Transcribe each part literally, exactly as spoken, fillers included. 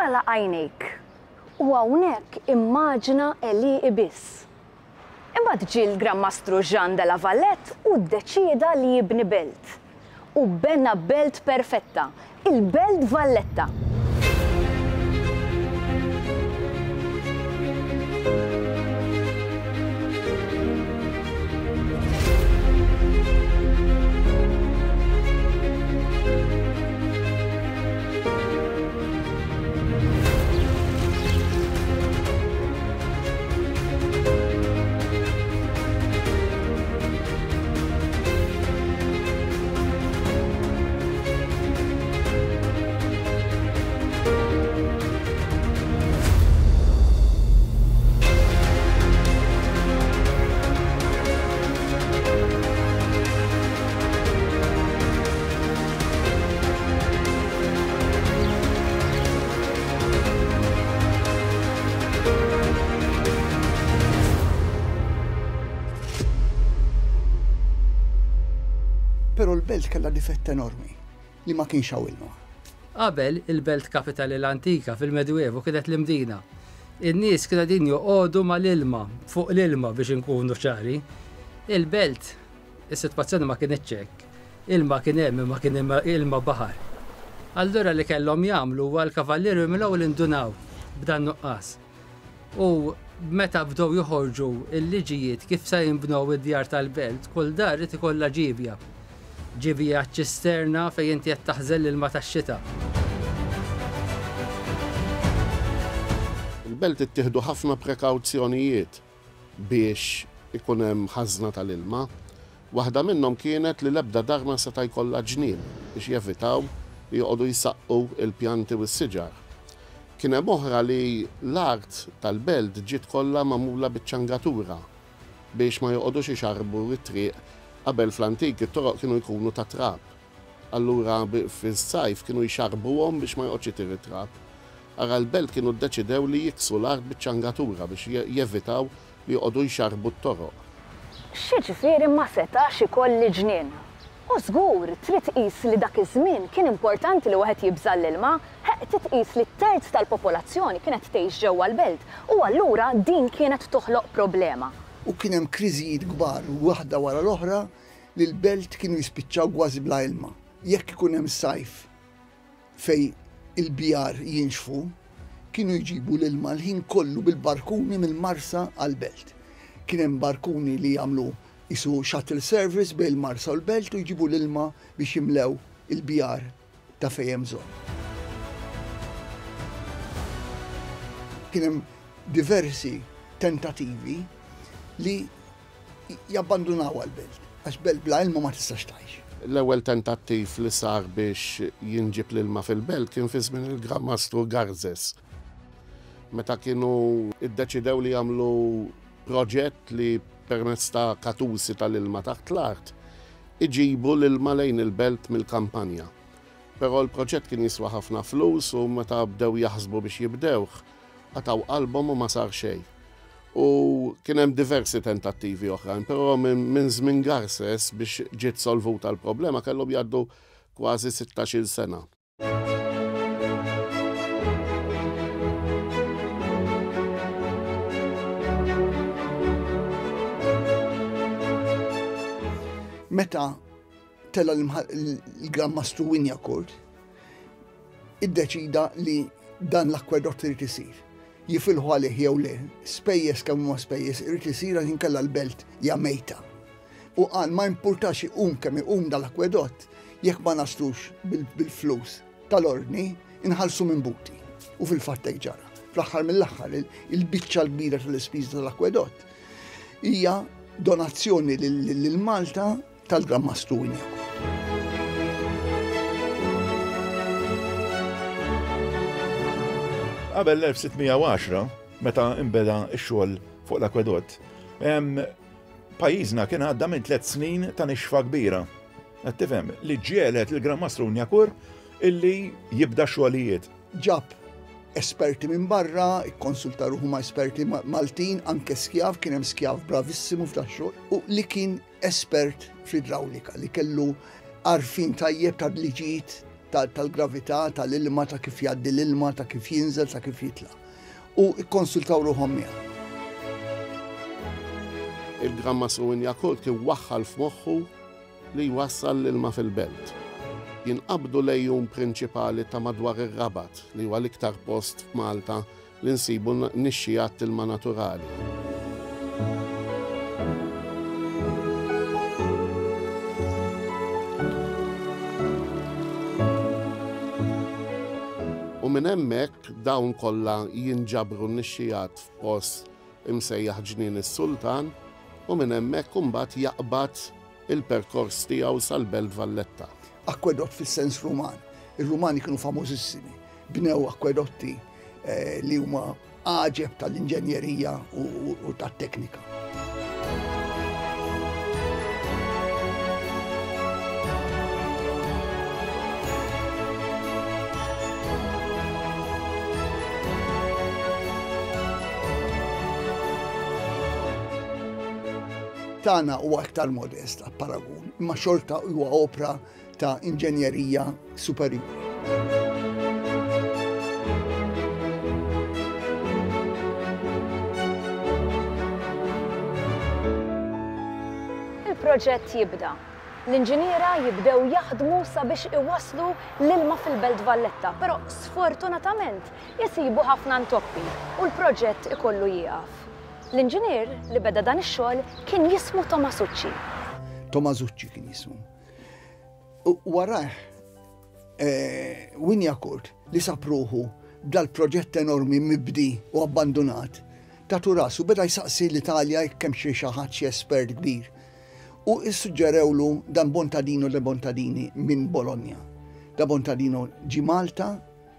Agħlaq għajnejk u hawnhekk immaġina għelieqi biss. Imbagħad ġie l-Gran Mastru Jean de la Valette u ddeċieda li jibni belt. U bena belt perfetta, il-Belt Valletta. Però l-belt kellha difett enormi li ma kienx hawn ilma. Qabel il-belt kapitali l-antika fil-Medjuevu kienet l-Imdina. In-nies kienu qegħdin joqogħdu mal-ilma, fuq l-ilma biex inkunu ċari. Il-belt, is-sitwazzjoni ma kinitx hekk. Ilma kien hemm imma kien hemm ilma baħar. Allura li kellhom jagħmlu huwa l-kavallieri mill-ewwel indunaw b'dan nuqqas. U meta bdew joħorġu l-liġijiet kif se jinbnew id-djar tal-belt, kull dar irid ikollha ġibja. Ġibja ċisterna fejn inti qed taħżel l-ilma tax-xita. Il-belt ittieħdu ħafna prekawzjonijiet biex ikun hemm ħażna tal-ilma. Waħda minnhom kienet li l-ebda dar ma seta' jkollha ġnien biex jevitaw li joqogħdu jsaqqu l-pjanti u s-siġar. Kien hemm oħra li l-art tal-belt ġiet kollha magħmula biċ-ċangatura biex ma joqogħdux ixarbu t-triq. Qabel fl-antik it-toroq kienu jkunu ta' trab. Allura fis-sajf kienu jxarbuhom biex ma joqgħodx itir it-trab. Ara l-belt kienu ddeċidew li jiksu l-art biċ-ċangatura biex jevitaw li joqogħdu jxarbu t-toroq. X'jiġifieri ma setax ikolli ġnien? U żgur, trid tqis li dak iż-żmien kien importanti li wieħed jibża' l-ilma, ħeq titqis li terz tal-popolazzjoni kienet tgħix ġewwa l-belt u allura din kienet toħloq problema. U kien hemm kriżijiet kbar waħda wara l-oħra li l-belt kienu jispiċċaw kważi bla ilma. Jekk ikun hemm sajf fejn il-bjar jinxfu, kienu jġibu l-ilma l-ħin kollu bil-barkuni mill-Marsa għall-belt. Kien hemm barkuni li jagħmlu isu shuttle service bejn il-Marsa u l-belt u jġibu l-ilma biex jimlew il-bjar ta' fejn hemm bżonn. Kien hemm diversi tentativi li jabbandunaw għal-belt, għax belt bla ilma ma tistax tgħix. L-ewwel tentattiv li sar biex jinġib l-ilma fil-belt kien fi żmien il-Gran Mastru Garzes. Meta kienu iddeċidew li jagħmlu proġett li permezz ta' katusi tal-ilma taħt l-art iġibu l-ilma lejn il-belt mill-kampanja. Però l-proġett kien jiswa ħafna flus u meta bdew jaħsbu biex jibdewh, qataw qalbhom u ma sar xejn. U kien hemm diversi tentattivi oħrajn, però minn żmien Garces biex ġiet solvuta l-problema kellhom jgħaddu kważi sittax-il sena. Meta tella l-Gran Mastru Wignacourt, iddeċida li dan l-akwedott irid isir. Jifilħu għalih jew le, spejjeż kemm huma spejjeż, irid isir għax inkella l-belt hija mejta. U qal ma importax iqum kemm iqum dal-akwedott, jekk ma naslux bil-flus tal-ordni, inħallsu minn buti. U fil-fatt hekk ġara. Fl-aħħar mill-aħħar, il-biċċa l-kbira tal-ispiża tal-akwedott hija donazzjoni lil Malta tal-Gran Mastru Wignacourt. Qabel l-elf sitt mija u għaxra, meta imbeda x-xogħol fuq l-akwedott, pajjiżna kien għadda minn tliet snin ta' nixfa kbira. Qed tifhem li ġielet il-Gran Mastru Wignacourt illi jibda xogħlijiet. Ġab esperti minn barra, ikkonsulta ruħu ma' esperti Maltin, anke skjav, kien hemm skjav bravissimu f'dax-xogħol, u li kien espert fl-idrawlika, li kellu għarfien tajjeb ta' liġijiet tal-gravità, tal-ilma, ta' kif jgħaddi l-ilma, ta' kif jinżel, ta' kif jitla'. U ikkonsultaw ruħhom miegħu. Il-Gran Mastru Wignacourt kien waħħal f'moħħu li jwassal l-ilma fil-belt. Jinqabdu l-għejun prinċipali ta' madwar ir-Rabat, li huwa l-iktar post f'Malta li nsibu nixxijat ilma naturali. U minn hemmhekk dawn kollha jinġabru n-nixxijat f'post imsejjaħ Ġnien is-Sultan, u minn hemmhekk imbagħad jaqbad il-perkors tiegħu sal-Belt Valletta. Akwedott fis-sens Ruman. Ir-Rumani kienu famużissimi. Bnew akwedotti eh, li huma għaġeb tal-inġenjerija u, u, u tat-teknika. Tagħna huwa aktar modest għal paragun, imma xorta huwa opra ta' inġenjerija superjuri. Il-proġett jibda. L-inġiniera jibdew jaħdmu sabiex iwasslu l-ilma fil-Belt Valletta, però sfortunatament jisibu ħafna ntoppi u l-proġett ikollu jieqaf. L-inġinier li beda dan ix-xogħol kien jismu Tomasucci. Tomasucci kien jismu. U warah eh, Wignacourt li sab ruħu dal-proġett enormi mibdi u abbandonat, tatu rasu beda jsaqsi l-Italja jekk hemm xi xi ħadd xi espert kbir. U issuġġerewlu dan Bontadino de Bontadini minn Bologna. Da Bontadino ġi Malta,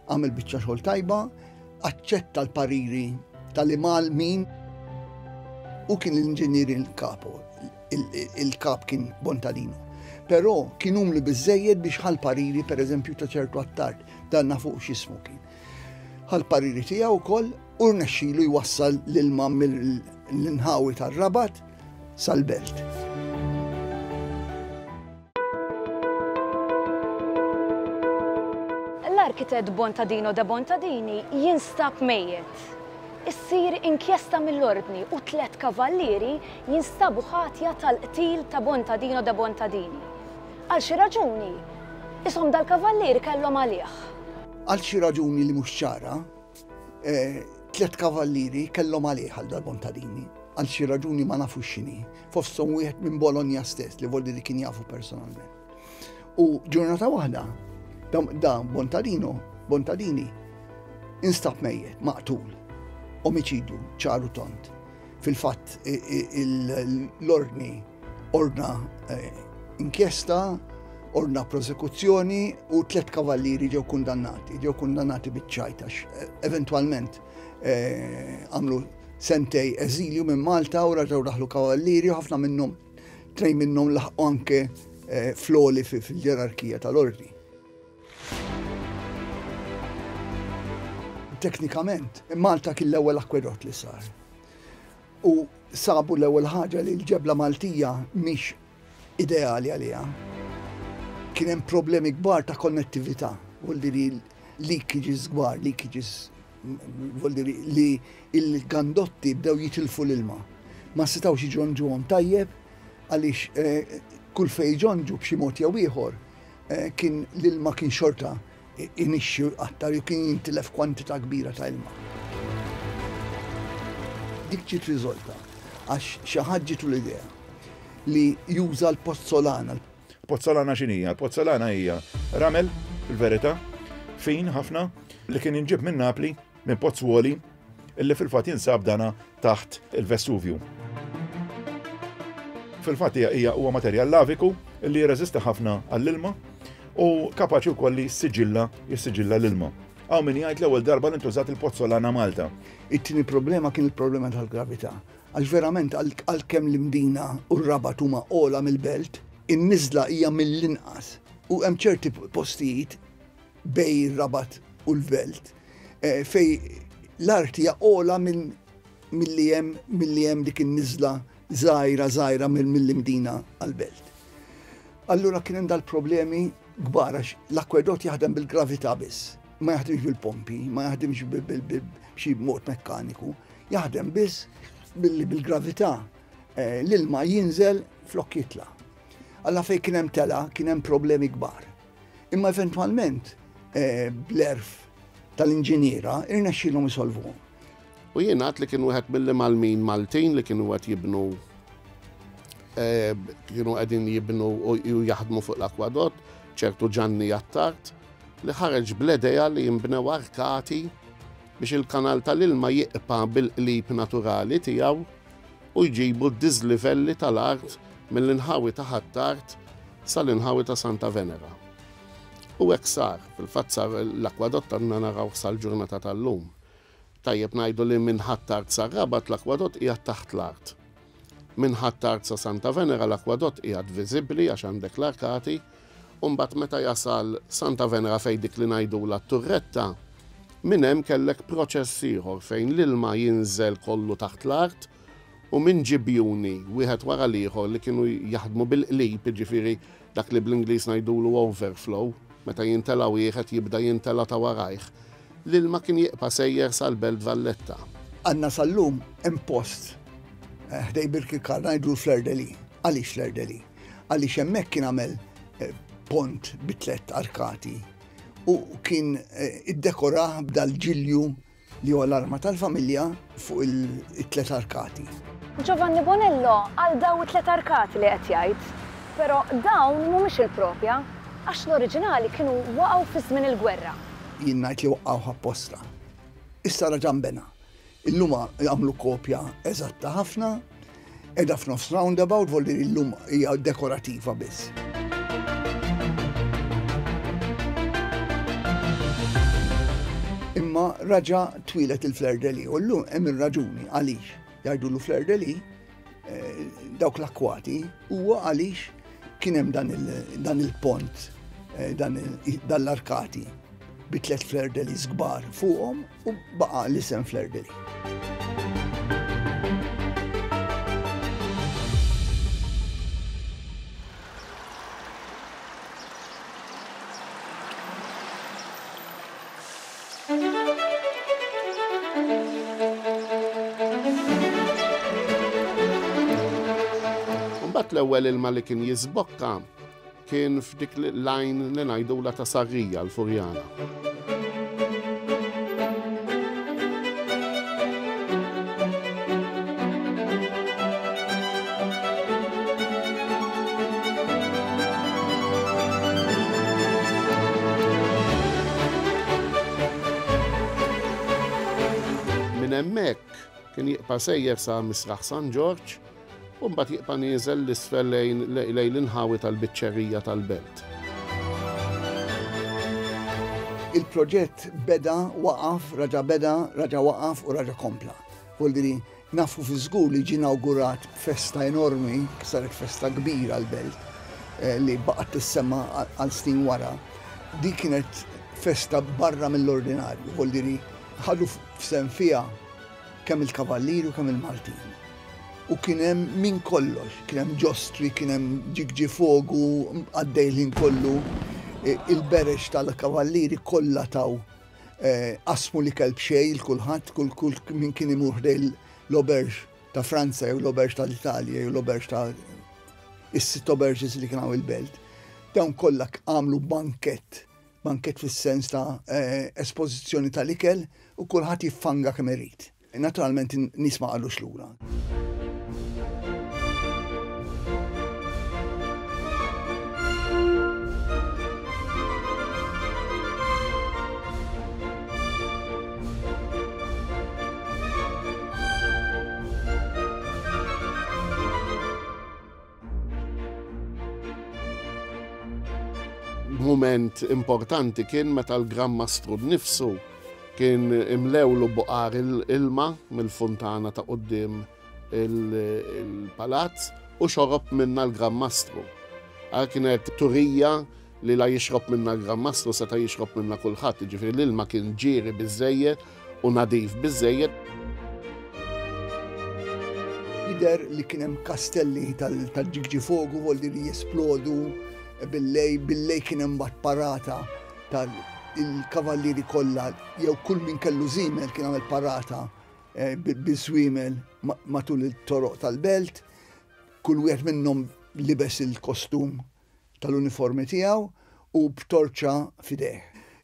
għamel biċċa xogħol tajba, aċċetta l-pariri tal-imal min u kien l-inġinier il-kapo, il-kap kien Bontadino. Però kien umli biżżejjed biex ħal pariri per eżempju ta' ċertu Attard, dan nafu x'ismu kien. Ħal pariri tiegħu wkoll u rnexxielu jwassal l-ilma mill-inħawi tar-Rabat sal-belt. L-arkitett Bontadino de Bontadini jinstab mejjet. Issir inkjesta mill-ordni u tliet kavallieri jinstabu ħatja tal-qtil ta' Bontadino de Bontadini. Għal xi raġuni, ishom dal-kavallieri kellhom għalih. Għal xi raġuni li mhux ċara, eh, tliet kavallieri kellhom għalih għal dal-Bontadini. Għal xi raġuni ma nafux x'inhi. Fosthom wieħed minn Bologna stess li voldi li kien jafu personalment. U ġurnata waħda, da, da Bontadino, Bontadini, instab mejjet, maqtul, omiċidju, ċaru tont. Fil-fatt l-ordni ordna eh, inkjesta, ordna prosekuzzjoni u tliet kavallieri ġew kundannati, ġew kundannati biċ-ċajt għax eh, eventwalment eh, għamlu sentej eżilju minn Malta u raġgħu daħlu kavallieri u ħafna minnhom, tnejn minnhom laħqu anke eh, floli fil-ġerarkija tal-ordni. Teknikament, Malta kien l-ewwel akwedott li sar. U sabu l-ewwel ħaġa li l-ġebla Maltija mhix ideali għaliha. Kien hemm problemi kbar ta' konnettività, vuol dire leakages kbar, leakages, vuol dire li il-gandotti bdew jitilfu l-ilma. Ma setgħux iġonġuhom tajjeb għaliex eh, kull fejn ġonġu b'xi mod jew ieħor eh, kien l-ilma kien xorta inixxi aktar jew kien jintilef kwantità kbira ta' ilma. Dik ġiet riżolta għax xi ħadd ġietu l-idea li juża l-pozzolana. Pozzolana x'inhija? L-pozzolana hija ramel, fil-verità, fin ħafna, li kien inġib minn Napli, minn Pozzuoli, illi fil-fatt jinsab dana taħt il-Vesuvju. Fil-fatt hija hija huwa materjal laviku illi jirreżisti ħafna għall-ilma u kapaċi wkoll li jissiġilla jissiġilla l-ilma. Hawn min jgħid l-ewwel darba li ntużat il-pozzolana Malta. It-tieni problema kien il-problema tal-gravità. Għax verament għalkemm l-Imdina u r-Rabat huma ogħla mill-belt, in-niżla hija mill-inqas. U hemm ċerti postijiet bej ir-Rabat u l-belt eh, fej l-art hija ogħla minn milli hemm milli hemm dik in-niżla żgħira żgħira mill-Imdina għall-belt. Allura kien hemm dal-problemi kbar għax l-akwedott jaħdem bil-gravità biss. Ma jaħdimx bil-pompi, ma jaħdimx b'xi mod mekkaniku, jaħdem biss billi bil-gravità l-ilma jinżel flok jitla'. Alla fej kien hemm tela, kien hemm problemi kbar. Imma eventwalment bl-erf tal-inġiniera irnexxielhom isolvuhom. U jingħad li kien wieħed mill-imgħallmin Maltin li kienu qed jibnu kienu qegħdin jibnu u jaħdmu fuq l-akwadott, ċertu Ġanni Attard, li ħareġ bl-idea li jinbnew arkati biex il-kanal tal-ilma jiqpa' bil-qlib naturali tiegħu u jġibu d-diżlivelli tal-art mill-inħawi ta' Ħ'Attard sal-inħawi ta' Santa Venera. U hekk sar, fil-fatt sar l-akwadott għandna naraw sal-ġurnata tal-lum. Tajjeb ngħidu li minn Ħ'Attard sar-Rabat l-akwadott qiegħed taħt l-art. Minn Ħ'Attard sa Santa Venera l-akwadott qiegħed viżibbli għax għandek l-arkati, u mbagħad meta jasal Santa Venera fejn dik li ngħidulha t-turretta, minn hemm kellek proċess ieħor fejn l-ilma jinżel kollu taħt l-art u minn ġibjuni wieħed wara l-ieħor li kienu jaħdmu bil-qlib, jiġifieri dak li bl-Ingliż ngħidulu overflow, meta jintela wieħed jibda jintela ta' warajh, l-ilma kien jibqa' sejjer sal-Belt Valletta. Għandna sal-lum hemm post ħdej Birkirkara ngħidu l-Fleur-de-Lis. Għaliex Fleur-de-Lis? Għaliex hemmhekk kien għamel pont bi tliet arkati u kien iddekorah b'dal-ġilju li huwa l-arma tal-familja fuq it-tliet arkati. Giovanni Bonello għal daw it-tliet arkati li qed jgħid, però dawn mhumiex il-propja għax l-oriġinali kienu waqgħu fi żmien il-gwerra. Jien ngħid li waqgħu apposta. Issa raġa' nbena. Illum għamlu kopja eżatta ħafna, qiegħda f'nofs roundabout, vuol dire illum hija dekorativa biss. Imma raġa' twilet il-Fleur-de-Lis u llum hemm ir-raġuni għaliex jgħidulu Fleur-de-Lis dawk l-akkwati huwa għaliex kien hemm dan il-pont, dan l-arkati bi tliet Fleur-de-Lis kbar fuqhom u baqa' l-isem Fleur-de-Lis. Mbagħad l-ewwel ilma li kien jiżbokka kien f'dik l-lajn li ngħidulha ta' Sarrija l-Furjana. Minn hemmhekk kien jibqa' sejjer sa Misraħ San Ġorġ u mbagħad jibqa' nieżel l-isfel lejn l-inħawi tal-biċċerija tal-belt. Il-proġett beda, waqaf, raġa' beda, raġa' waqaf u raġa' kompla. Vuol dire nafu fi żgur li ġie inawgurat festa enormi, saret festa kbira l-belt, li baqgħet tissemma għal snin wara. Di kienet festa barra mill-ordinarju, vuol dire ħadu f'sehem fiha kemm il-Kavallieri u kemm il-Maltin. U kien hemm min kollox, kien hemm ġostri, kien hemm ġigġifogu għaddej l-ħin kollu, il-berex tal-Kavallieri kollha taw qasmu l-ikel b'xejn il kulħadd, kull kull min kien imur ħdej l-auberge ta' Franza jew l-auberge tal-Italja jew l-auberge ta' is-sitt auberges li kien hawn il-belt. Dawn kollha għamlu bankett, bankett fis-sens ta' espożizzjoni tal-ikel u kulħadd jiffanga kemm irid. Naturalment nies ma qalux lura. Moment importanti kien meta l-Gran Mastru nnifsu kien imlewlu buqar il-ilma mill-funtana ta' quddiem il-palazz u xorob minna l-Gran Mastru. Għal kienet turija li la jixrob minna l-Gran Mastru seta' jixrob minna kulħadd, jiġifieri l-ilma kien ġieri biżżejjed u nadif biżżejjed. Jidher li kien hemm kastelli tal-ġigġifogu, vuol dire jesplodu, Billejl, billejl kien hemm mbagħad parata tal-kavallieri kollha jew kull min kellu żiemel kien għamel parata eh, biż-żwiemel matul it-toroq tal-belt. Kull wieħed minnhom libes il-kostum tal-uniformi tiegħu u b'torċa f'idejh.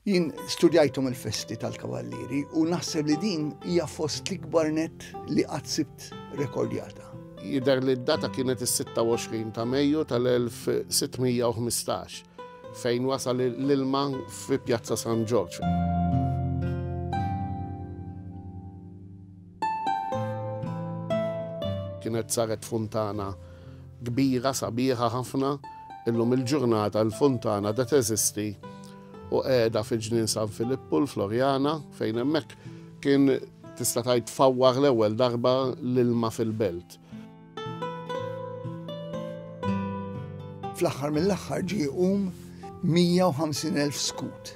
Jien studjajthom il-festi tal-kavallieri u naħseb li din hija fost l-ikbar net li qatt sibt rekordjata. Jidher li d-data kienet is-sitta u għoxrin ta' Mejju tal-elf sitt mija u ħmistax fejn wasal l-ilma fi Pjazza San Ġorġ. Kienet saret funtana kbira, sabiħa ħafna, illum il-ġurnata l-funtana da teżisti u qiegħda fi ġnien San Filippu l-Floriana fejn hemmhekk kien tista' tgħid tfawwar l-ewwel darba l-ilma fil-belt. Fl-aħħar mill-aħħar ġie jqum mija u ħamsin elf skut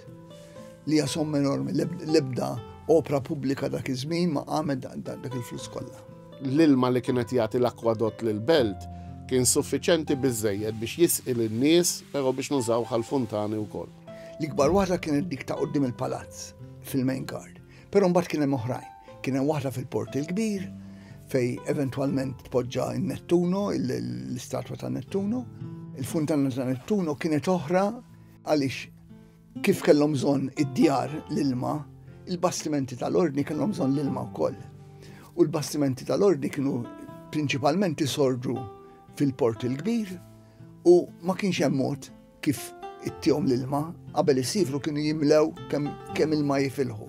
li hija somma enormi, l-ebda opra pubblika dak iż-żmien ma qamet da-, da-, dak il-flus kollha. L-ilma li kienet jagħti l-akwadott lill-belt kien suffiċenti biżżejjed biex jisqi lin-nies, però biex nużaw għall-funtani wkoll. L-ikbar waħda kienet dik ta' quddiem il-palazz fil-main guard, però mbagħad kien hemm oħrajn. Kien hemm waħda fil-Port il-Kbir fej eventwalment tpoġġa n-Nettuno, l-istatwa ta' Nettuno. Il-funtana ta' Nettuno kienet oħra għaliex kif kellhom bżonn id-djar l-ilma, il-bastimenti tal-ordni kellhom bżonn l-ilma wkoll. U l-bastimenti tal-ordni kienu prinċipalment isorġu fil-Port il-Kbir u ma kienx hemm mod kif ittihom l-ilma, qabel isifru kienu jimlew kemm, kemm ilma jifilħu.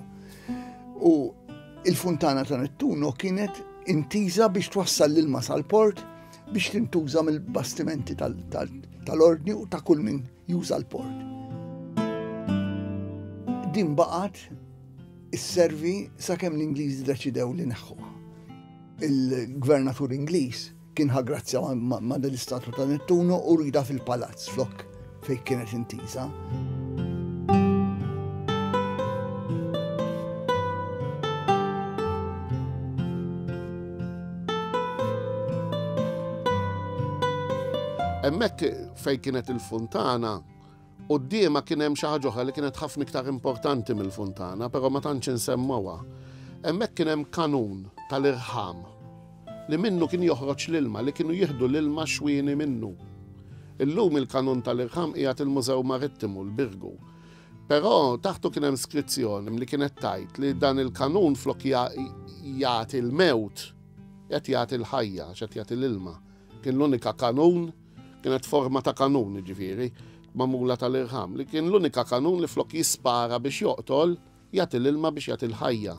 U il-funtana ta' Nettuno kienet intiża biex twassal l-ilma sal-port biex tintuża mill-bastimenti tal-, tal-, tal-ordni u ta' kull min juża l-port. Din baqgħet isservi sakemm l-Ingliżi deċidew li neħħuha. Il-gvernatur Ingliż kien ħa grazzja ma-, ma-, ma' dell-istatwa ta' Nettuno u rida fil-palazz flok fejn kienet intiża. Hemmhekk fejn kienet il-funtana, quddiemha kien hemm xi ħaġa oħra li kienet ħafna iktar importanti mill-funtana, però ma tantx insemmewha. Hemmhekk kien hemm kanun tal-irħam li minnu kien joħroġ l-ilma, li kienu jieħdu l-ilma xwieni minnu. Illum il-kanun tal-irħam qiegħed il-Mużew Marittimu, l-Birgu. Però taħtu kien hemm skrizzjoni li kienet tgħid li dan il-kanun flok ja-, jagħti l-mewt, qed jagħti l-ħajja, qed jagħti l-ilma. Kien l-unika kanun, kienet forma ta' kanun, jiġifieri, magħmula tal-irħam, li kien l-unika kanun li flok jispara biex joqtol, jagħti l-ilma biex jagħti l-ħajja.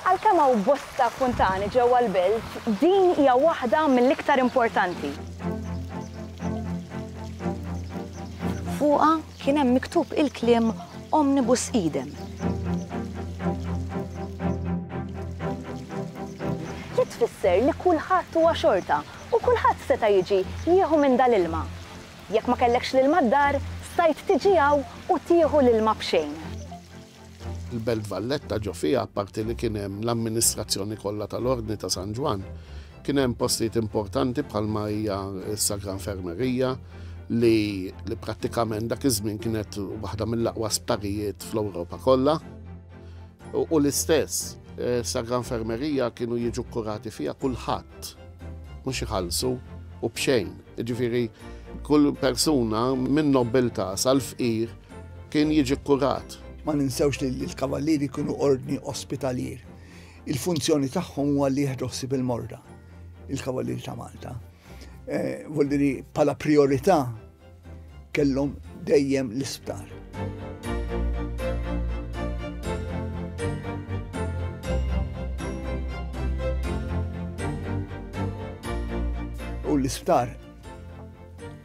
Għalkemm hawn bosta funtani ġewwa l-belt, din hija waħda mill-iktar importanti. Fuqha kien hemm miktub il-kliem Omnibus Idem. Li tfisser li kulħadd huwa xorta u kulħadd seta' jiġi jieħu minn dal-ilma. Jekk ma kellekx l-ilma d-dar, stajt tiġi hawn u tieħu l-ilma b'xejn. Il-Belt Valletta ġo fiha, apparti li kien hemm l-amministrazzjoni kollha tal-Ordni ta' San Ġwann, kien hemm postijiet importanti bħalma hija s-Sagra Infermerija li, li prattikament dak iż-żmien kienet waħda mill-aqwa sptarijiet fl-Ewropa kollha. U, u l-istess, eh, Sagra Infermerija kienu jiġu kkurati fiha kulħadd, mhux iħallsu u b'xejn. Jiġifieri kull persuna minn nobiltà sal-fqir kien jiġi kkurat. Ma ninsewx li l-kavallieri kienu ordni ospitalier. Il-funzjoni tagħhom huwa li jieħdu ħsieb il-morda, il-kavallieri ta' Malta. Eh, vuol dire bħala priorità kellhom dejjem l-isptar. U l-isptar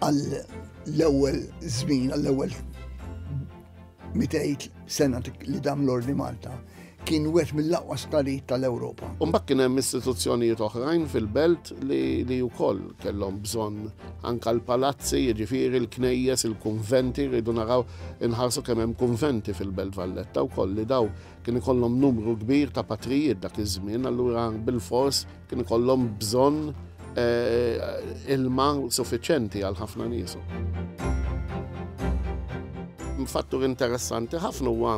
għall-ewwel żmien, għall-ewwel mitejn sena li dam l-Ordni Malta, kien wieħed mill-aqwa sptarijiet tal-Ewropa. U mbagħad kien hemm istituzzjonijiet oħrajn fil-belt li, li wkoll kellhom bżonn anke l-palazzi, jiġifieri l-knejjes, il-kunventi, rridu naraw inħarsu kemm hemm kunventi fil-Belt Valletta wkoll li daw kien ikollhom numru kbir ta' patrijiet dak iż-żmien, allura bilfors kien ikollhom bżonn, eh, ilma suffiċjenti għal ħafna nies. Fattur interessanti ħafna huwa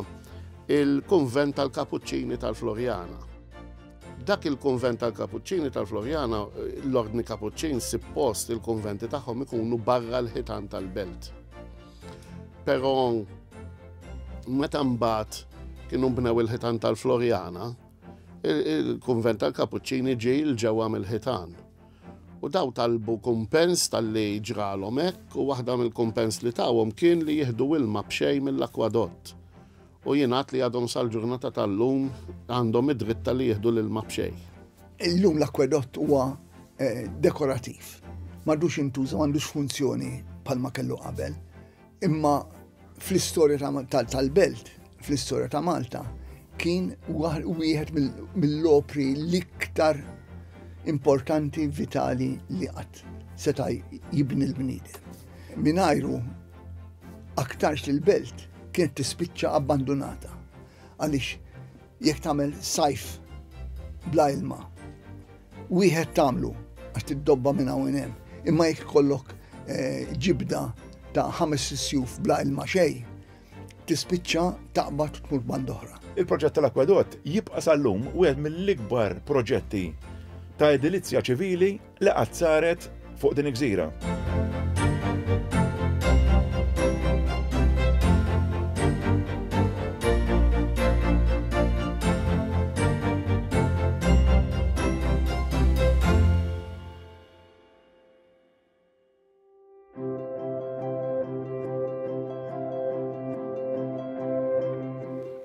il-kunvent tal-Kapuċċini tal-Floriana. Dak il-kunvent tal-Kapuċċini tal-Floriana, l-Ordni Kapuċċin suppost il-kunventi tagħhom ikunu barra l-ħitan tal-belt. Però meta mbagħad kienu bnew il-ħitan tal-Floriana, il-kunvent tal-Kapuċċini ġie 'l ġewwa mill-ħitan. U daw talbu kumpens talli ġralhom hekk u waħda mill-kumpens li tawhom kien li jieħdu ilma b'xejn mill-akwadott. U jingħad li għadhom sal-ġurnata tal-lum għandhom id-dritt li jieħdu l-ilma b'xejn. Illum l-akwadott huwa dekorativ. M'għadux jintuża, m'għandux funzjoni bħalma kellu qabel. Imma fl-istorja tal-belt, fl-istorja ta' Malta, kien wieħed mill-opri l-iktar importanti, vitali li qatt seta' jibni l-bniedem. Mingħajru aktarx li l-belt kienet tispiċċa abbandonata. Għaliex jekk tagħmel sajf bla ilma, wieħed tagħmlu għax tiddobba minn hawn hemm, imma jekk ikollok ġibda ta' ħames sjuf bla ilma xejn, tispiċċa taqbad u tmur band oħra. Il-proġett tal-akwadott jibqa' sal-lum wieħed mill-ikbar proġetti ta' edilizja ċivili li qatt saret fuq din il-gżira.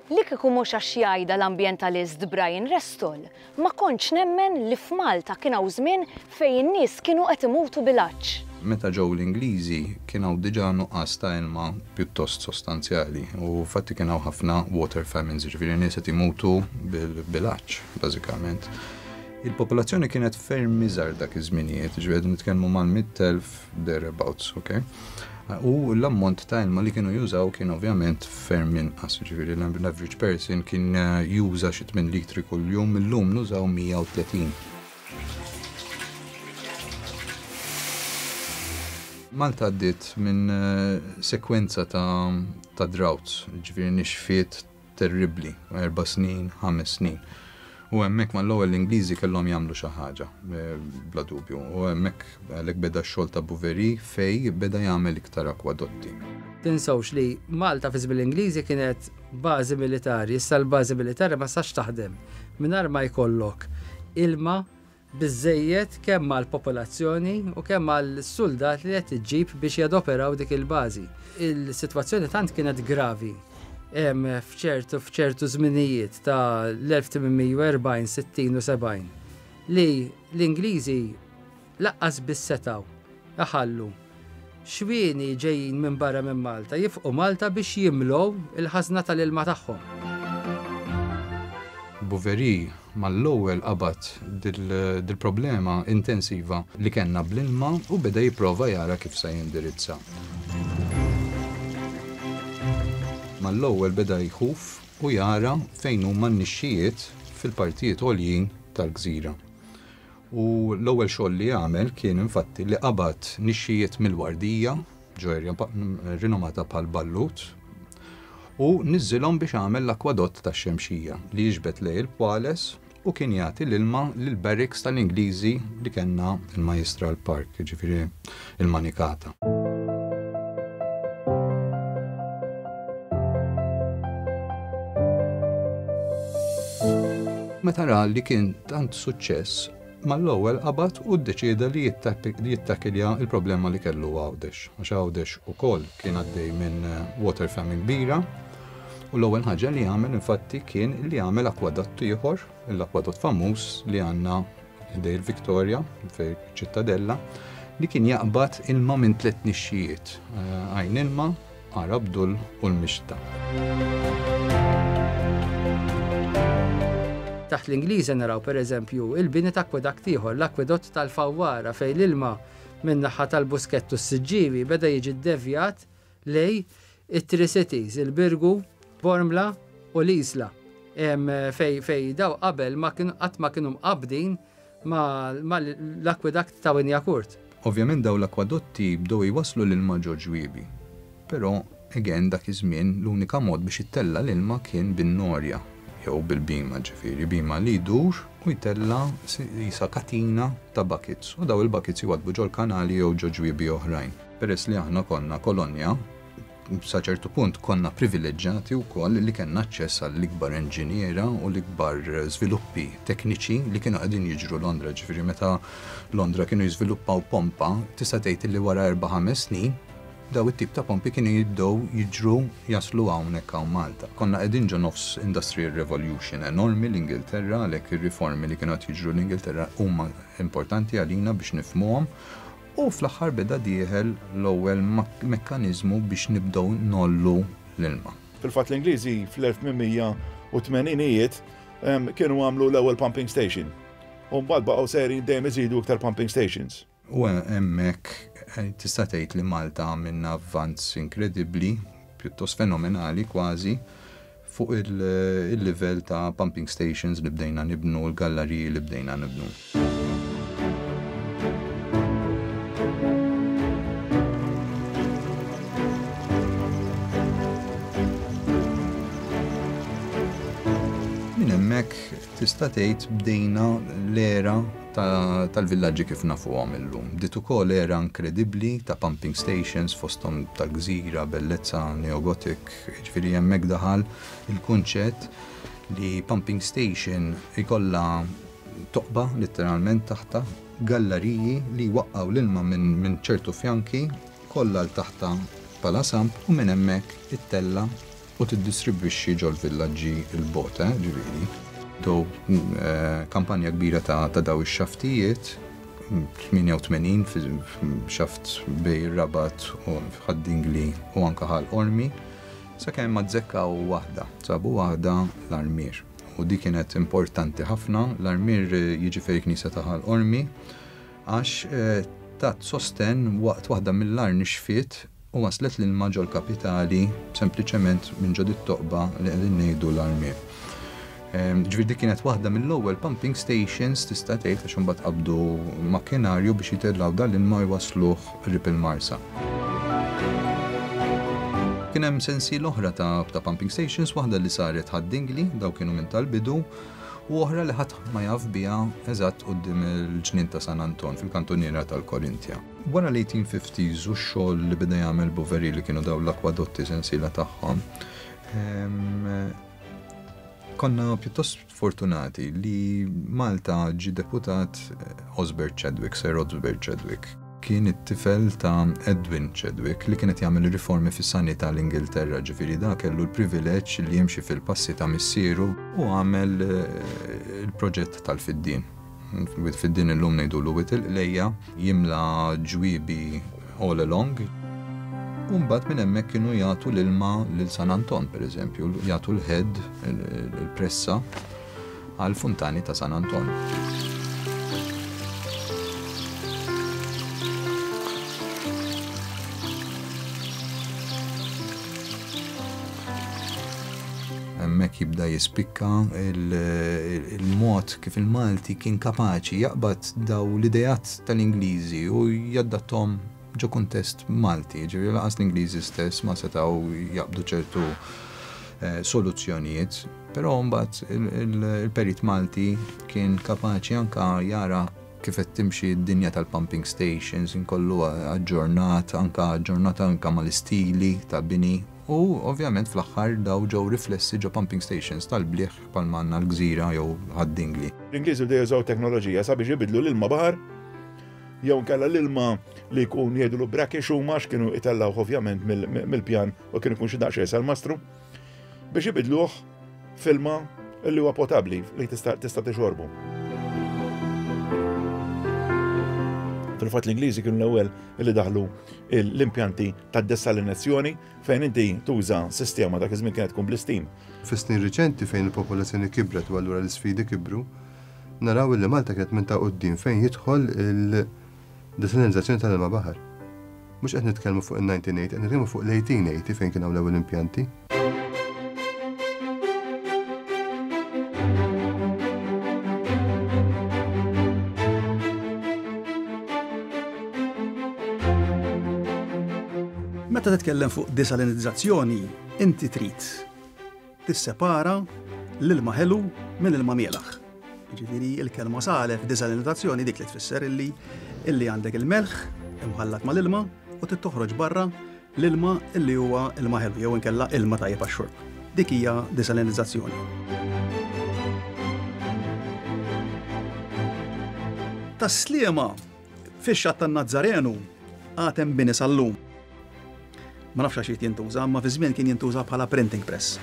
Li kieku mhux għax jgħidha l-ambjentalist Brian Restall, ma kontx nemmen li f'Malta kien hawn żmien fejn in-nies kienu qed imutu bil-għatx. Meta ġew l-Ingliżi kien hawn diġà nuqqas ta' ilma pjuttost sostanzjali u fatti kien hawn ħafna water famines, jiġifieri nies qed imutu bil-għatx bażikament. Il-popolazzjoni kienet ferm iżgħar dak iż-żminijiet, jiġifieri nitkellmu mal-mitt elf thereabouts, okay? U l-ammont ta' ilma li kienu jużaw kien ovvjament ferm inqas, jiġifieri l-average person kien juża xi tmien litri kuljum, illum nużaw mija u tletin. Malta għaddiet minn sekwenza ta', ta droughts, jiġifieri nixfiet terribbli, erba' snin, ħames snin. U hemmhekk mal-ewwel l-Ingliżi kellhom jagħmlu xi ħaġa, bla dubju. U hemmhekk għalhekk beda x-xogħol ta' Bouverie fej beda jagħmel iktar akwadotti. Tinsewx li Malta fi żmien l-Ingliżi kienet bażi militari, issa l-bażi militari ma sax taħdem mingħajr ma jkollok ilma biżejjed kemm għall-popolazzjoni u kemm għall-suldat li qed iġġib biex jadoperaw dik il-bażi. Il-sitwazzjoni tant kienet gravi f'ċertu f'ċertu żminijiet ta' l-elf tmien mija u erbgħin, sittin u sebgħin li l-Ingliżi laqqas biss setgħu iħallu xwieni ġejjin minn barra minn Malta jifqu Malta biex jimlow il-ħażna tal-ilma tagħhom. Bouverie mal-ewwel qabad dil-problema intensiva li kellna bl-ilma u beda jipprova jara kif se jindirizza. Mal-ewwel beda jħuf u jara fejn huma n-nixxijiet fil-partijiet għoljin tal-gżira. U l-ewwel xogħol li għamel kien infatti li qabad nixxijiet mill-Wardija, ġo erja rinomata bħal Ballut, u niżżilhom biex għamel l-akwadott tax-Xemxija li jiġbed lejn il-Pwales u kien jagħti l-ilma lill-barracks tal-Ingliżi li kellna il-Majjistral Park, jiġifieri il-Manikata. Meta ra li kien tant suċċess, mal-ewwel qabad u ddeċieda li jittakilja il-problema li kellu Għawdex. Għax Għawdex ukoll kien għaddej minn water famine kbira u l-ewwel ħaġa li għamel infatti kien li għamel akwadott ieħor, l-akwadott famuż li għandna ħdej il-Victoria, fej Ċittadella, li kien jaqbad ilma minn tliet nixxijiet, Għajn Ilma, Għar Abdul u l-Mixta. Taħt l-Ingliżi naraw pereżempju il-bini ta' akwadakt ieħor, l-akwedott tal-Fawwara fejn l-ilma minn naħa tal-Buskett u s-Siġġiewi beda jiġi ddevjat lej it-Three Cities, il-Birgu, Bormla u l-Isla. Fej, fej daw qabel ma kienu qatt ma kienu mqabbdin ma, ma l-akwadakt ta' Wynyacourt. Ovvjament daw l-akwadotti bdew jwasslu l-ilma ġo ġwiebi, però Again, dak iż-żmien l-unika mod biex ittella' l-ilma kien bin-norja jew bil-bima, ġifieri bima li jdur u jtella' jisa katina ta' buckets u daw il-buckets jwadbu ġol-kanali jew ġo ġwiebi oħrajn. Peress li aħna konna kolonja, sa ċertu punt konna privileġġjati wkoll li kellna aċċess għall-ikbar inġiniera u l-ikbar żviluppi tekniċi li kienu qegħdin jiġru Londra. Ġifieri meta Londra kienu jiżviluppaw pompa, tista' tgħid li wara erba' ħames snin daw it-tip ta' pompi kienu jibdew jiġru jaslu hawnhekk hawn Malta. Konna qegħdin ġo nofs Industrial Revolution enormi l-Ingilterra, għalhekk ir-riformi li kienu qed jiġru l-Ingilterra huma importanti għalina biex nifhmuhom. U fl-aħħar beda dieħel l-ewwel mekkaniżmu biex nibdew nollu l-ilma. Fil-fatt l-Ingliżi fl-elf tmien mija u tmeninijiet kienu għamlu l-ewwel pumping station. U mbagħad baqgħu sejrin dejjem iżidu iktar pumping stations. U hemmhekk tista' tgħid li Malta għamilna avvanz inkredibbli, pjuttost fenomenali kważi, fuq il-livell ta' pumping stations li bdejna nibnu, l-galleriji li bdejna nibnu. Minn hemmhekk tista' tgħid bdejna l-era tal-villaġġi kif nafuhom illum. Bdiet ukoll era inkredibbli ta' pumping stations fosthom tal-Gżira, Bellezza, Neogotik, jiġifieri hemmhekk daħal il-kunċett li pumping station ikollha toqba letteralment taħta, galleriji li jwaqqgħu l-ilma minn ċertu fjanki kollha l taħta bħala samp u minn hemmhekk ittella' u tiddistribwixxi ġol-villaġġi il-bogħod, eh, ġifieri. Do kampanja kbira ta' daw ix-xaftijiet, tmienja u tmenin xaft bej Rabat u Ħad-Dingli u anka Ħal Qormi, sakemm ma zzekkaw waħda, sabu waħda l-Armier. U di kienet importanti ħafna, l-Armier jiġi fejn knisja ta' Ħal Qormi, għax tat sosten waqt waħda mill-ar nixfiet u waslet l-ilma ġol kapitali sempliċement minn ġo dit-toqba li qegħdin ngħidu l-Armier. Ġifieri dik kienet waħda mill-ewwel pumping stations tista' tgħid għax imbagħad qabdu makkinarju biex jitellgħu dan l-ilma jwasluh qrib il-Marsa. Kien hemm sensiela oħra ta', ta' pumping stations, waħda li saret Ħad-Dingli, daw kienu minn tal-bidu, u oħra li ħadd ma jaf biha eżatt quddiem il-ġnien ta' San Anton fil-kantuniera tal-Korintja. Wara l-eighteen fifties u x-xogħol li beda jagħmel Boveri li kienu daw l-akwadotti sensiela tagħhom, ehm, konna pjuttost fortunati li Malta ġie deputat Osbert Chadwick, Sir Osbert Chadwick. Kien it-tifel ta' Edwin Chadwick li kienet jagħmel riformi fis-sanità l-Ingilterra, ġifieri da kellu l-privileġġ li jimxi fil-passi ta' missieru u għamel, eh, il-proġett tal-Fiddien. Fiddien illum ngħidulu Wied il-Qlejja, jimla ġwiebi all along. U mbagħad minn hemmhekk kienu jagħtu l-ilma lil San Anton, pereżempju, jagħtu l-head, il-pressa għall-funtani ta' San Anton. Hemmhekk jibda jispikka il-mod kif il-Malti kien kapaċi jaqbad daw l-idejat tal-Ingliżi u jaddattom ġo kuntest Malti, ġifieri lanqas l-Ingliżi stess ma setgħu jaqbdu ċertu, eh, soluzzjonijiet, però mbagħad il-perit Malti kien kapaċi anka jara kif qed timxi d-dinja tal-pumping stations, inkollu aġġornat, anka aġġornat anka mal-istili ta' bini, u ovvjament fl-aħħar daw ġew riflessi ġo pumping stations tal-bliħ bħalma għandna l-Gżira jew Ħad-Dingli. L-Ingliżi bdew jużaw teknoloġija sabiex ibidlu l-ilma baħar jew inkella l-ilma li jkun jgħidulu brackish huma għax kienu itellgħuh ovvjament mill-pjan u kienu jkun xi daqsxejn salmastru biex ibidluh f'ilma li huwa potabbli li tista' tista' tixorbu. Fil-fatt l-Ingliżi kienu l-ewwel li daħlu l-impjanti tad-desalinazzjoni fejn inti tuża sistema dak iż-żmien kienet tkun bl-istim. Fis-snin riċenti fejn il-popolazzjoni kibret u allura l-isfidi kibru, naraw li Malta kienet minn ta' quddiem fejn jidħol il-desalinizzazzjoni tal-ilma baħar. Mhux qed nitkellmu fuq in-nineteen eighty, qed nitkellmu fuq l-eighteen eighty fejn kien hawn l-ewwel impjanti. Meta Meta titkellem fuq desalinizzazzjoni, inti trid tissepara l-ilma ħelu minn ilma mielaħ. Jiġifieri l-kelma salef desalinizzazzjoni dik li tfisser illi illi għandek il-melħ imħallat mal-ilma u trid toħroġ barra l-ilma illi huwa ilma ħelu jew inkella ilma tajjeb għax-xorb. Dik hija desalinizzazzjoni. Tas-Sliema fix-xatt tan-Nazzarenu għad hemm bini sal-lum. Ma nafx għax jintuża, imma fi żmien kien jintuża bħala printing press.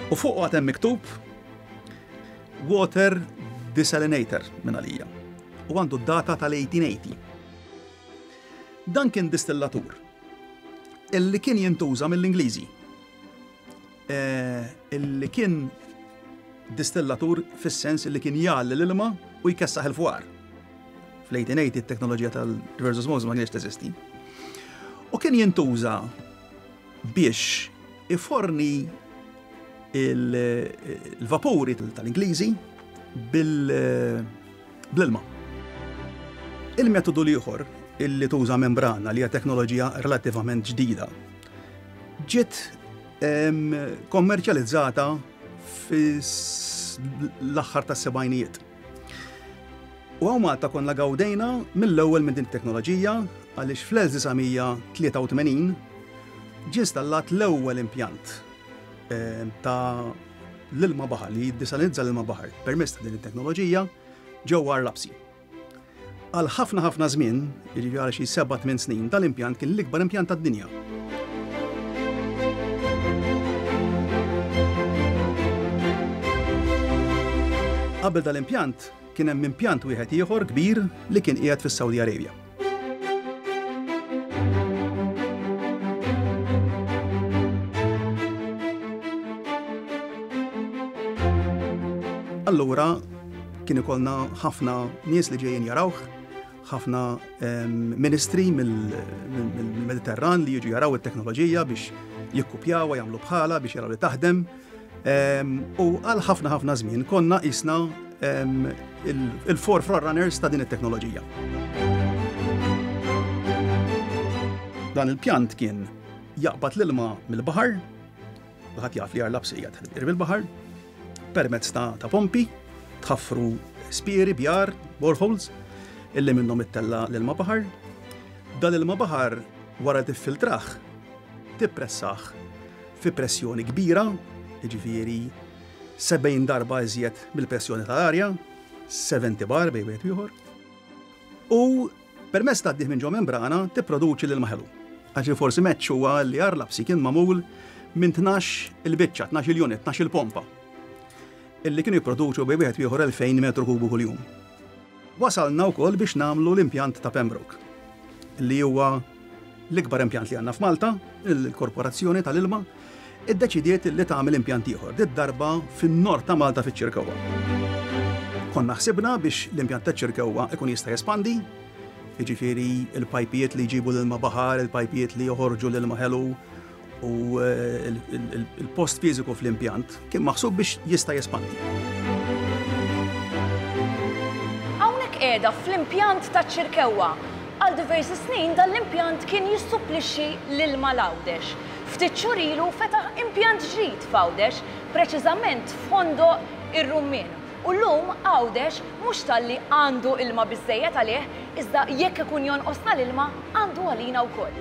U fuq għad hemm miktub Water Desalinator minn għalija. U għandu d-data tal-eighteen eighty. Dan kien distillatur illi kien jintuża mill-Ingliżi. Eh, illi kien distillatur fis-sens illi kien jgħalli l-ilma u jkessaħ il-fwar. Fl-eighteen eighty t-teknoloġija tal-reverse osmosis ma kienx teżisti. U kien jintuża biex iforni il-vapuri tal-Ingliżi bl-ilma. Il-metodu l-ieħor illi tuża membrana li hija teknoloġija relattivament ġdida ġiet, em, kommerċjalizzata fl-aħħar tas-sebgħinijiet. U hawn Malta konna gawdejna mill-ewwel minn din it-teknoloġija għaliex fl-elf disa' mija tlieta u tmenin ġie installat l-ewwel impjant, em, ta' l-ilma baħar li jiddisalinizza l-ilma baħar permezz ta' din it-teknoloġija ġewwa Għar Lapsi. Għal ħafna ħafna żmien, jiġifieri għal xi seba' tmien snin, dal-impjant kien l-ikbar impjant tad-dinja. Qabel dal-impjant kien hemm impjant wieħed ieħor kbir li kien qiegħed fis-Saudi Arabia. Allura kien ikollna ħafna nies li ġejjin jarawh, ħafna, em, ministri mill-Mediterran li jiġu jaraw it-teknoloġija biex jikkupjawha, jagħmlu bħala biex jaraw li taħdem. Em, u għal ħafna ħafna żmien konna qisna, em, il-, il-four frontrunners ta' din it-teknoloġija. Dan il-pjant kien jaqbad l-ilma mill-baħar, kulħadd jaf li Għar Lapsi qiegħed qrib il-baħar, permezz ta', ta' pompi, tħaffru spieri, bjar, boreholes, illi minnhom ittella l-ilma baħar. Dan l-ilma baħar wara tiffiltrah, tippressah fi pressjoni kbira, jiġifieri sebgħin darba iżjed mill-pressjoni tal-arja, seventy bar bejn wieħed ieħor, u permezz ta' minn ġo membrana tipproduċi l-ilma ħelu. Għax forsi meċċ huwa li Għar Lapsi kien magħmul minn tnax il-biċċa, tnax il-unit, tnax il-pompa, illi kienu jipproduċu bejn wieħed ieħor elfejn metru kubu kuljum. Wasalna wkoll biex nagħmlu l-impjant ta' Pembroke, li huwa l-ikbar impjant li għandna f'Malta, il-Korporazzjoni tal-Ilma, iddeċidiet li tagħmel impjant ieħor, dit darba fin-nord ta' Malta fiċ-Ċirkewwa. Konna ħsibna biex l-impjant ta' Ċirkewwa ikun jista' jespandi, jiġifieri il-pajpijiet li jġibu l-ilma baħar, il-pajpijiet li joħorġu l-ilma ħelu, u, eh, il-, il-, il-, il-post fiżiku fl-impjant kien maħsub biex jista' jespandi. Hawnhekk qiegħda fl-impjant ta' Ċirkewwa. Għal diversi snin dan l-impjant kien jissupplixxi l-ilma l-Għawdex. Ftit xhur ilu fetaħ impjant ġdid f'Għawdex, preċiżament f'Ħondoq ir-Rummien. U llum Għawdex mhux talli għandu ilma biżżejjed għalih, iżda jekk ikun jonqosna l-ilma għandu għalina wkoll.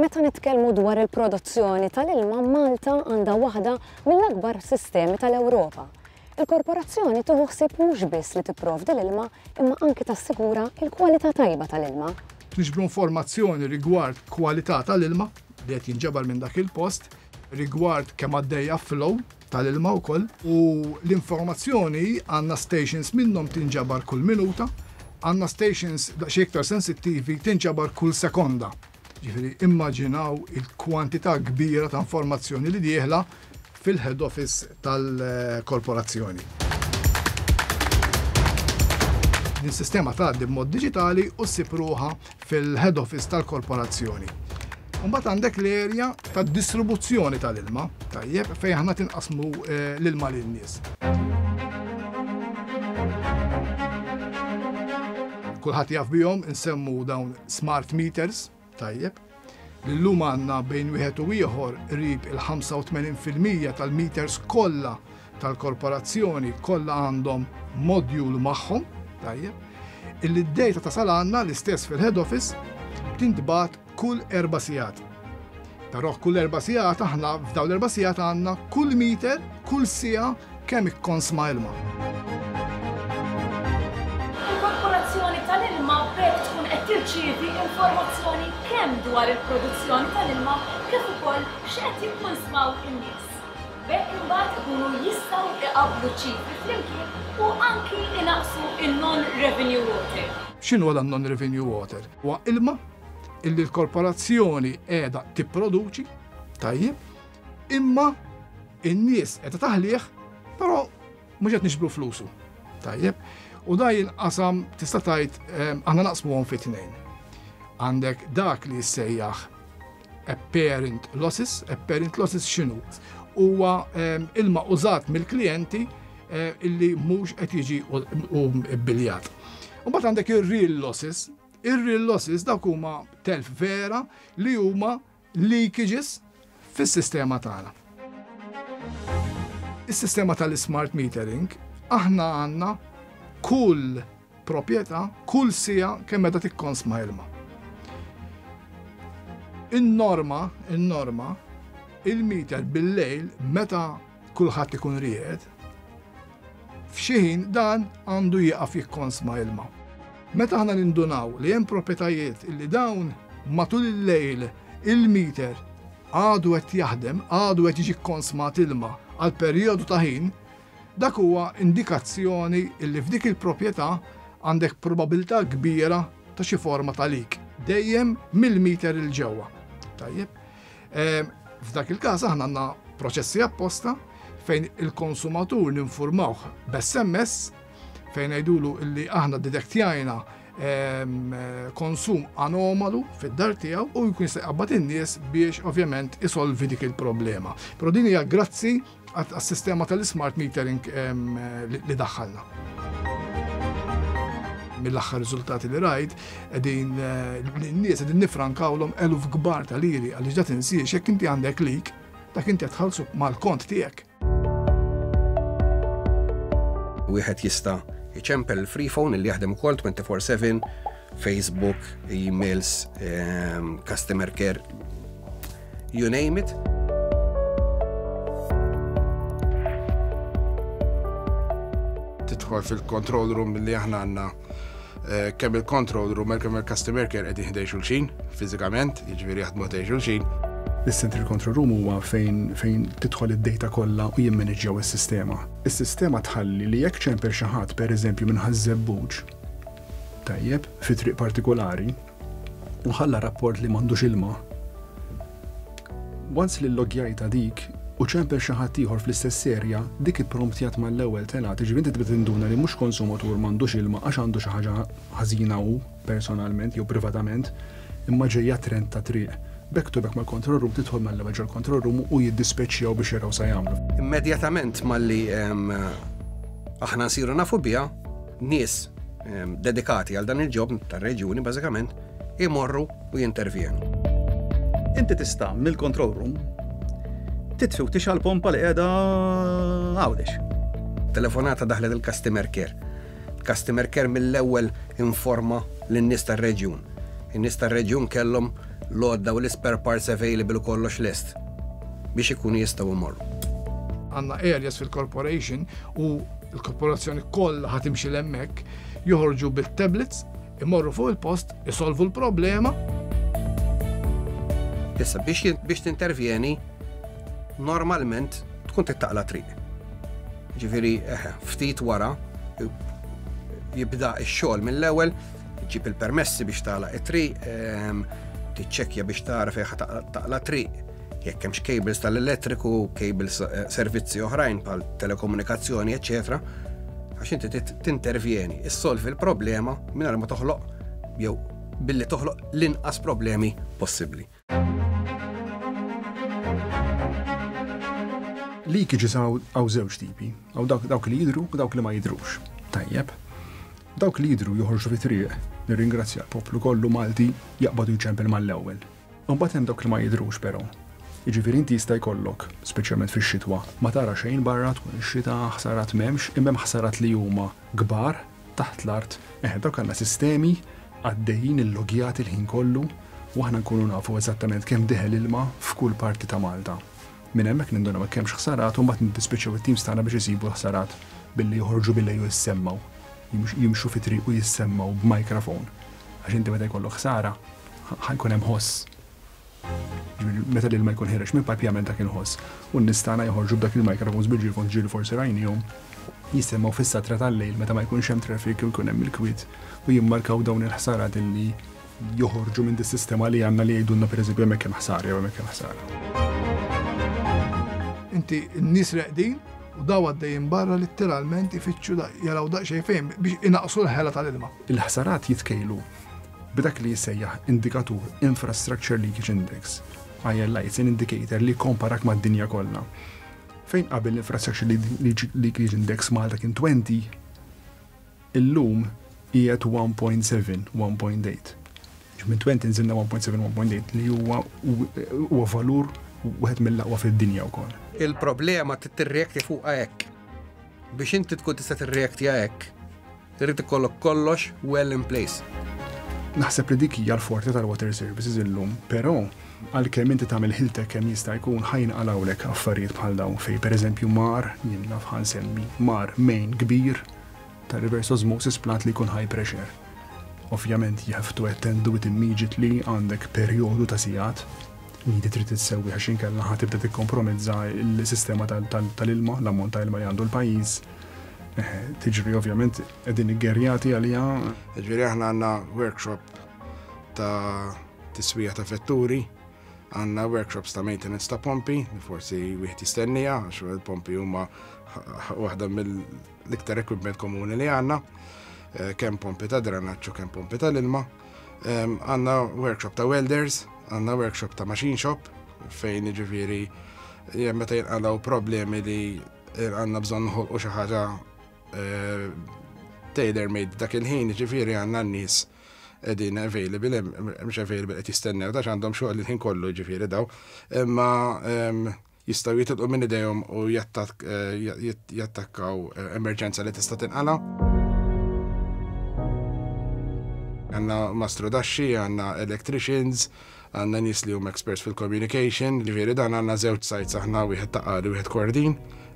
Meta nitkellmu dwar il-produzzjoni tal-ilma, Malta għandha waħda mill-akbar sistemi tal-Ewropa. Il-korporazzjoni tieħu ħsieb mhux biss li tipprovdi l-ilma, imma anki tassigura l-kwalità tajba tal-ilma. Niġbru informazzjoni rigward kwalità tal-ilma li qed jinġabar minn dak il-post, rigward kemm għaddejja flow tal-ilma wkoll, u l-informazzjoni għandna stations minnhom tinġabar kull minuta, għandna stations daqsxejn iktar sensittivi tinġabar kull sekonda. Ġifieri immaġinaw il-kwantità kbira ta' informazzjoni li dieħla fil-head office tal-korporazzjoni. Din sistema tgħaddi b'mod diġitali u ssib ruħha fil-head office tal-korporazzjoni. Mbagħad għandek l-erja tad-distribuzzjoni tal-ilma, tajjeb, fejn aħna tinqasmu eh, l-ilma lin-nies. Kulħadd jaf bihom, insemmu dawn smart meters, tajjeb. L-lum għandna bejn wieħed u ieħor qrib il-ħamsa u tmenin fil-mija tal-meters kollha tal-korporazzjoni kollha għandhom module magħhom, tajjeb, illi d-data tasal għandna l-istess fil-head office tintbagħat kull erba' sigħat. Però kull erba' sigħat aħna f'dawn l-erba' sigħat għandna kull meter, kull siegħa kemm ikkonsma ilma. Il-korporazzjoni tal-ilma b'hekk tkun qed tirċievi informazzjoni kemm dwar il-produzzjoni tal-ilma kif ukoll x'qed jikkonsmaw in-nies. B'hekk imbagħad ikunu jistgħu iqabblu ċifri flimkien u anki inaqsu il-non-revenue water. X'inhu dan non-revenue water? Huwa ilma illi l-korporazzjoni qiegħda tipproduċi, tajjeb, imma in-nies qiegħda taħlih, però mhux qed nixbru flusu. Tajjeb, u da jinqasam tista' tgħid, ehm, aħna naqsmuhom fi tnejn. Għandek dak li jissejjaħ apparent losses. Apparent losses x'inhu? Huwa, ehm, ilma użat mill-klijenti, eh, illi mhux qed jiġi u, u bbiljat. U mbagħad għandek ir-real losses. Ir-real losses dawk huma telf vera li huma leakages fis-sistema tagħna. Is-sistema tal-smart metering, aħna għandna kull proprjetà, kull siegħa kemm meta tikkonsma ilma. In-norma, in-norma, il-meter bil-lejl meta kulħadd ikun ried, f'xi ħin dan għandu jieqaf jikkonsma ilma. Meta aħna nindunaw li hemm proprjetajiet illi dawn matul il-lejl il-meter għadu qed jaħdem, għadu qed jiġi kkonsmat ilma għal perjodu ta' ħin, dak huwa indikazzjoni illi f'dik il-proprjetà għandek probabilità kbira ta' xi forma ta' leak, dejjem mill-meter il ġewwa. Tajjeb. Ehm, f'dak il-każ aħna għandna proċessi apposta fejn il-konsumatur ninformawh b'S M S fejn ngħidulu illi aħna detektjajna, ehm, konsum anomalu fid-dar tiegħu u jkun jista' jqabbad in-nies biex ovvjament isolvi dik il-problema. Però din hija grazzi għas-sistema tal-smart metering, ehm, li, li daħħalna. Mill-aħħar riżultati li rajt, qegħdin, eh, n-nies qegħdin nifrankawlhom eluf kbar ta' liri għaliex da tinsiex jekk inti għandek leak, dak inti qed tħallsu mal-kont tiegħek. Wieħed jista' iċempel il-free phone li jaħdem ukoll twenty-four seven, Facebook, emails, ehm, customer care, you name it. Tidħol fil-control room li aħna għandna, eh, kemm il-control room kemm il-customer care qegħdin ħdej xulxin fiżikament, jiġifieri jaħdmu ħdej xulxin. Is-central control room huwa fejn, fejn tidħol id-data kollha u jimmaneġġjaw is-sistema. Is-sistema tħalli li jekk ċempel xi ħadd pereżempju minn Ħaż-Żebbuġ, tajjeb, fi triq partikolari, u ħalla rapport li m'għandux ilma. Once li llogjajta dik u ċempel xi ħadd ieħor fl-istess serja, dik ippromptjat mal-ewwel telgħat, jiġifieri inti tibda tinduna li mhux konsumatur m'għandux ilma għax għandu xi ħaġa ħażina hu personalment jew privatament, imma ġejja trend ta' triq. Back to back mal-control room, tidħol mal-ewwel ġol-control room u jiddispeċjaw biex jaraw sa jagħmlu. Immedjatament malli, ehm, aħna nsiru nafu biha, nies, ehm, dedikati għal dan il-ġob tar-reġjuni bażikament imorru u jintervjenu. Inti tista' mill-control room titfi u tixgħal pompa li qiegħda Għawdex. Telefonata daħlet il-customer care. Customer care mill-ewwel informa lin-nies tar-reġjun. In-nies tar-reġjun kellhom l-għodda u l-spare parts available u kollox lest biex ikunu jistgħu jmorru. Għandna areas fil-corporation u l-korporazzjoni kollha ħa timxi l-hemmhekk, joħorġu bit-tablets, imorru fuq il-post, isolvu l-problema. Issa biex jin-, biex tintervjeni, normalment tkun tittaqla triq. Ġifieri, eh, ftit wara jibda x-xogħol mill-ewwel, ġib il-permessi biex tagħlaq it-triq, ehm, tiċċekkja biex tara fejn ħa taqla-, taqla triq, jekk hemmx cables tal-elettriku, cables, eh, servizzi oħrajn bħal telekomunikazzjoni, eċċetera. Għax inti tintervjeni, issolvi l-problema mingħajr ma toħloq jew billi toħloq l-inqas problemi possibbli. Leakages hawn żewġ tipi, hawn dawk li jidhru u dawk li ma jidhrux. Tajjeb. Dawk li jidhru joħorġu fit-triq, nirringrazzja l-poplu kollu Malti jaqbadu jċempel mal-ewwel. Imbagħad hemm dawk li ma jidhrux però. Jiġifieri inti jista' jkollok, speċjalment fix-xitwa, ma tara xejn barra tkun ix-xita, ħsarat m'hemmx, imma hemm ħsarat li huma kbar taħt l-art. Eħe, dawk għandna sistemi għaddejjin illogjati l-ħin kollu u aħna nkunu nafu eżattament kemm deħel ilma f'kull parti ta' Malta. Minn hemmhekk nindunaw hekk hemmx ħsarat u mbagħad niddispiċċaw it-teams tagħna biex isibu l-ħsarat billi joħorġu billi jissemmaw. Jimxu fi triq u jissemmaw b'mikrofon. Għax inti meta jkollok ħsara ħajkun hemm ħoss. Meta l-ilma jkun ħireġ minn pipe jagħmel dak il-ħoss. U n-nies tagħna joħorġu b'dak il-microphones bil-ġirfon ġieli forsi rajnihom jissemmaw fis-satra tal-lejl meta ma jkunx hemm traffic u jkun hemm il-kwiet u jimmarkaw dawn il-ħsarat illi joħorġu minn dis-sistema li għandna li jgħidulna pereżempju hemmhekk hemm ħsara jew hemmhekk hemm ħsara. Inti n-nies reqdin u daw għaddejjin barra litteralment ifittxu jaraw daqsxejn fejn biex inaqsu l-ħela tal-ilma. Il-ħsarat jitkejlu b'dak li jissejjaħ indikatur Infrastructure Leakage Index. I L I, it's an indicator li komparak mad-dinja kollha. Fejn qabel l-Infrastructure Leakage Index Malta kien twenty, illum qiegħed one point seven, one point eight. Minn twenty nżilna one point seven, one point eight li huwa huwa valur wieħed mill-aqwa fid-dinja wkoll. Il-problema tirreakti fuqha hekk. Biex inti tkun tista' tirreaktija hekk, irid ikollok kollox well in place. Naħseb li dik hija l-forti tal-water services illum, però għalkemm inti tagħmel ħiltek kemm jista' jkun ħajnqalawlek affarijiet bħal dawn fejn pereżempju mar, jien naf ħansemmi, mar main kbir ta' reverse osmosis plant li jkun high pressure. Ovvjament you have to attend to it immediately, għandek perjodu ta' sigħat li trid issewwi għax inkella ħa tibda tikkompromezza l-sistema tal-ilma, l-ammont ta' ilma li għandu l-pajjiż. Tiġri ovvjament qegħdin iggerjati għaliha. Ġifieri aħna għandna workshop ta' tiswija ta' vetturi, għandna workshops ta' maintenance ta' pompi, li forsi wieħed jistennija, għax il-pompi huma waħda mill-iktar equipment komuni li għandna, kemm pompi ta' drenaġġ u kemm pompi tal-ilma. Għandna workshop ta' welders, għandna workshop ta' machine shop, fejn jiġifieri meta jinqalgħu problemi li għandna bżonn noħolqu xi ħaġa tailor-made dak il-ħin, jiġifieri għandna n-nies qegħdin available, mhux available qed jistennew, għax għandhom xogħol il-ħin kollu jiġifieri daw, imma jistgħu jitilqu minn idejhom u jattakkaw emerġenza li tista' tinqala'. Għandna mastru daxxi, għandna electricians, għandna nies li huma experts fil-communication, jiġifieri dan għandna żewġ sites aħna, wieħed ta' Qali u wieħed Kordin,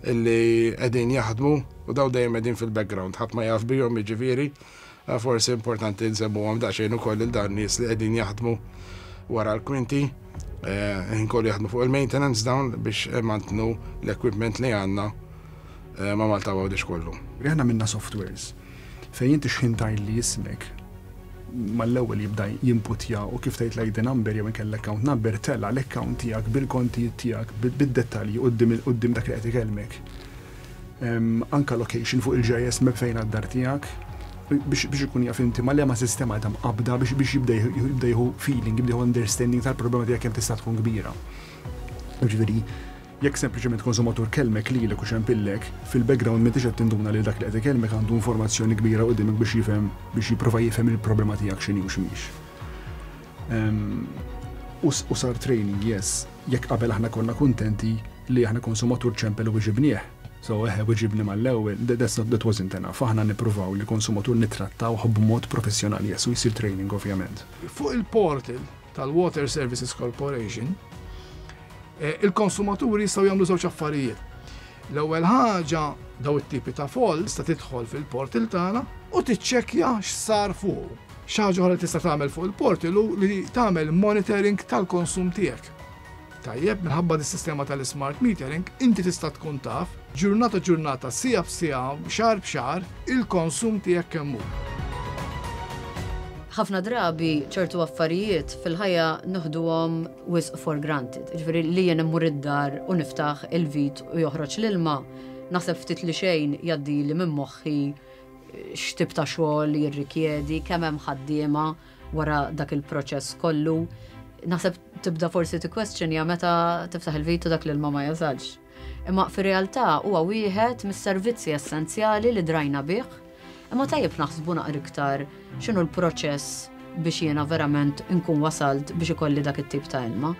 illi qegħdin jaħdmu u daw dejjem qegħdin fil-background, ħadd ma jaf bihom jiġifieri, forsi importanti nsemmuhom daqsxejn ukoll lil dan nies li qegħdin jaħdmu wara l-kwinti, ħin kollu jaħdmu fuq il-maintenance dawn biex mantnu l-equipment li għandna ma' Malta Għawdex kollu. Aħna minna softwares fejn inti x'ħin tgħidli ismek mal-ewwel jibda jimputja u kif tgħid l-I D number jew inkella l-account number tella l-account tiegħek bil-kontijiet tiegħek bid-dettalji quddiem dak li qed ikellmek. Anka location fuq il-G I S map fejn għad-dar tiegħek biex ikun jaf inti ma liema sistema ta' mqabda biex jibda jieħu feeling, jibda jieħu understanding tal-problema tiegħek kemm tista' tkun kbira. Jiġifieri, jekk sempliċement konsumatur kellmek lilek u xempillek, fil-background m'intix qed tinduna li dak li qed ikellmek għandu informazzjoni kbira quddiemek biex jifhem, biex jipprova jifhem il-problema tiegħek x'inhi u x'mhix. U sar training, yes, jekk qabel aħna konna kuntenti li aħna konsumatur ċempel u weġibnieh. So eħe, weġibni mal-ewwel, that's not, that wasn't enough. Aħna nippruvaw li konsumatur nittrattawh b'mod professjonali, yes, u jsir training ovvjament. Fuq il-portal tal-Water Services Corporation, il-konsumaturi jistgħu jagħmlu żewġ affarijiet. L-ewwel ħaġa daw it-tipi ta' fault tista' tidħol fil-portal tagħna u tiċċekkja x'sar fuq. Xi ħaġa oħra li tista' tagħmel fuq il-portal hu li tagħmel monitoring tal-konsum tiegħek. Tajjeb, minħabba dis-sistema tal-smart metering, inti tista' tkun taf ġurnata ġurnata, sija b'sija, xahar b'xahar, il-konsum tiegħek kemm hu. Ħafna drabi ċertu affarijiet fil-ħajja noħduhom wisq for granted. Ġifieri li jien immur id-dar u niftaħ il-vit u joħroġ l-ilma, Naħseb ftit li xejn jgħaddili minn moħħi x'tip ta' xogħol jirrikjedi, kemm hemm ħaddiema wara dak il-proċess kollu. Naħseb tibda forsi tikkwestjonja meta tiftaħ il-vit u dak l-ilma ma jasalx. Imma fir-realtà huwa wieħed mis-servizzi essenzjali li drajna bih. Imma tajjeb naħsbu naqra iktar x'inhu l-proċess biex jiena verament nkun wasalt biex ikolli dak it-tip ta' ilma.